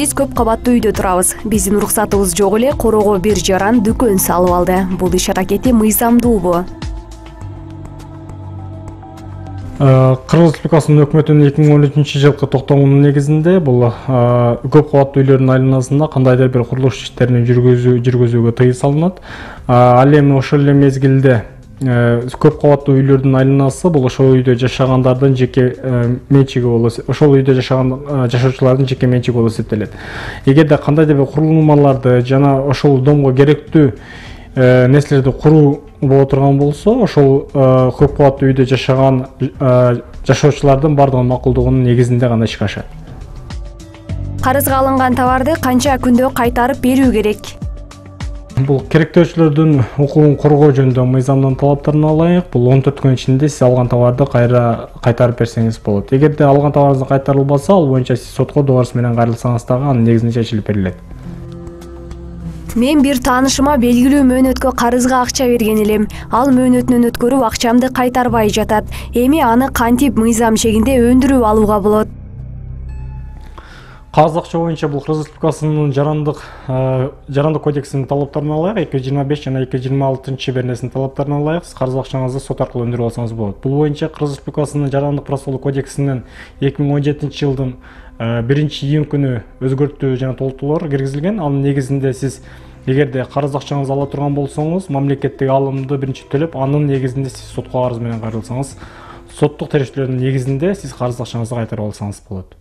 Биз көп кабаттуу үйдө турабыз. Биздин уруксатыбыз жок эле короого бир жаран дүкөн салып алды. Бул иш аракети мыйзамдуубу? Кыргыз Республикасынын өкмөтүнүн 2013 жылкы токтомунун негизинде бул көп кабаттуу үйлөрдүн айланасында кандайдыр бир курулуш иштерин жүргүзүүгө тыюу салынат. Ал эми ошол эле мезгилде көп кабаттуу үйлөрдүн айланасы бул ошол үйдө жашагандардын жеке менчиги болуп, ошол үйдө жашаган жашоочулардын жеке менчиги болуп эсептелет. Эгерде кандайдыр бир курулмаларды жана ошол домго керектүү нерселерди куруу боло турган болсо, ошол көп кабаттуу үйдө жашаган жашоочулардын бардыгынын макулдугунун негизинде гана ишке ашат. Карызга алынган товарды канча күндө кайтарып берүү керек? Бул керектөөчүлөрдүн укугун коргоо жөнүндө мыйзамдын талаптарына ылайык бул 14 күн ичинде сиз алган товарды кайтарып берсеңиз болот. Эгерде алган товарыңыз кайтарылбаса, ал боюнча сиз сотко добуш менен кайрылсаңыз дагы анын негизинде чечилип берилет. Мен бир таанышыма белгилүү мөөнөткө карызга акча берген элем. Ал мөөнөтүнөн өткөрүп акчамды кайтарбай жатат. Эми аны кантип мыйзам чегинде өндүрүп алууга болот? Кагаз акча боюнча бул Кыргыз Республикасынын жарандык кодексинин талаптарына ылайык 225 жана 226 беренесинин талаптарына ылайык сиз карыз акчаңызды сот аркылуу өндүрүп алсаңыз болот. Бул боюнча Кыргыз Республикасынын жарандык процессуалдык кодексинин 2017 жылдын 1-июнь күнү өзгөртүү жана толуктоолор киргизилген. Анын негизинде сиз эгерде карыз акчаңызды ала турган болсоңуз, мамлекеттик алымды биринчи төлөп, анын негизинде сиз сотко арыз менен кайрылсаңыз, соттук териштирүүнүн негизинде сиз карыз акчаңызды кайтарып алсаңыз болот.